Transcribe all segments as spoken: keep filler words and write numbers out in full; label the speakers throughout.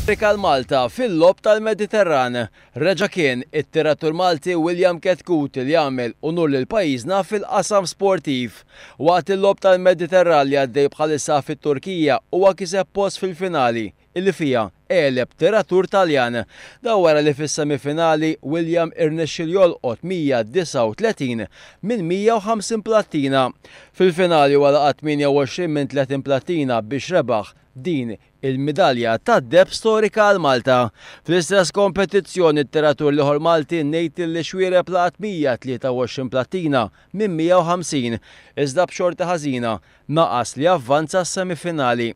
Speaker 1: Għal Malta fil-Logħob tal-Mediterran. Reġa' kien it-tiratur Malti William Chetcuti li għamel unur lil pajjiżna fil-qasam sportiv. Waqt il-Logħob tal-Mediterran li għaddej bħalissa fit-Turkija, huwa kiseb post fil-finali illi fiha għeleb tiratur Taljan. Dan wara li fis-semifinali William irnexxielu jolqot mija disgħa u tletin minn mija u ħamsin plattina. Fil-finali huwa laqat tmienja u għoxrin minn tletin plattina biex rebaħ din il-midalja tad-deheb storika għal Malta. Fl-istess kompetizzjoni, t-tiratur l-ieħor Malti Nathan Xuereb laqat mija tlieta u għoxrin plattina minn mija u ħamsin, iżda b'xorti ħażina naqas li avvanza s-semifinali.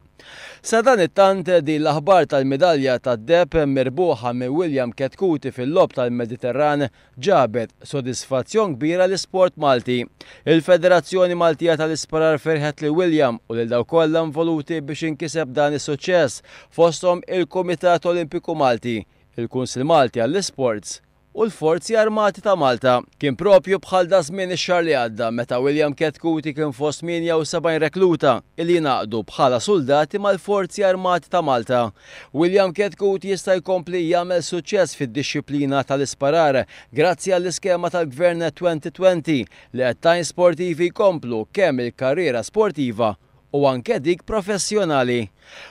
Speaker 1: Sadanittant, din l-aħbar tal-midalja tad-deheb mirbuħa minn William Chetcuti fil-Logħob tal-Mediterran ġabet sodisfazzjon kbira l-isport Malti. Il-Federazzjoni Maltija tal-Isparar ferħet lil William u lil dawk kollha involuti biex inkiseb dan is-suċċess, fosthom il-Kumitat Olimpiku Malti, il-Kunsil Malti għall-Isports u l-Forzi Armati ta' Malta. Kien propju bħal daż-żmien ix-xahar li għadda meta William Chetcuti kien fost tmienja u sebgħin rekluta illi jingħaqdu bħala soldati mal-Forzi Armati ta' Malta. William Chetcuti jista' jkompli jagħmel suċċess fid-dixxiplina tal-isparar grazzi għall-iskema tal-Gvern elfejn u għoxrin li qed tgħin sportivi jkomplu kemm il-karriera sportiva u anke dik professjonali.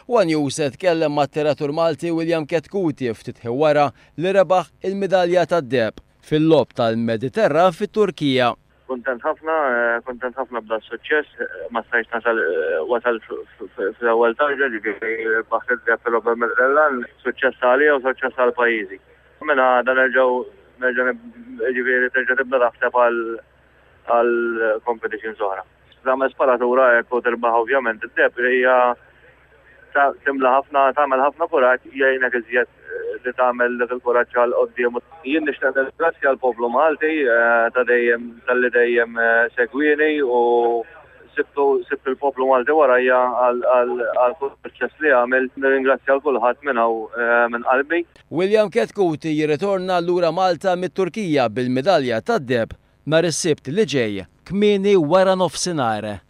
Speaker 1: One News tkellem mat-tiratur Malti William Chetcuti ftit wara li rebaħ il-midalja tad-deheb fil-Logħob tal-Mediterran fit-Turkija.
Speaker 2: Kontent ħafna, eh, kontent ħafna b'da suċċess, eh, ma stajtx nasal eh, wasal fl-ewwel tarġa, ġifieri rbaħt id-deheb fil-Logħob tal-Mediterran, suċċess għalija u suċċess għal pajjiżi. Minn għada nerġgħu nerġa' ġifieri terġa' tibda taħseb għal għal competitions oħra. Tagħmel sparatura hekk u tirbaħ ovvjament id-deheb hija timla ħafna, tagħmel ħafna kuraġġ, jgħinek iżjed li tagħmel dak il-kuraġġ għal quddiem. Jien nixtieq nirringrazzja l-poplu Malti ta' dejjem talli dejjem segwieni u sibtu sibt il-poplu Malti warajja għal suċċess li għamil. Nirringrazzja lil kulħadd minn hawn minn qalbi.
Speaker 1: William Chetcuti jirritorna lura Malta mit-Turkija bil-midalja tad-deheb nhar is-Sibt li ġej kmieni wara nofsinhar.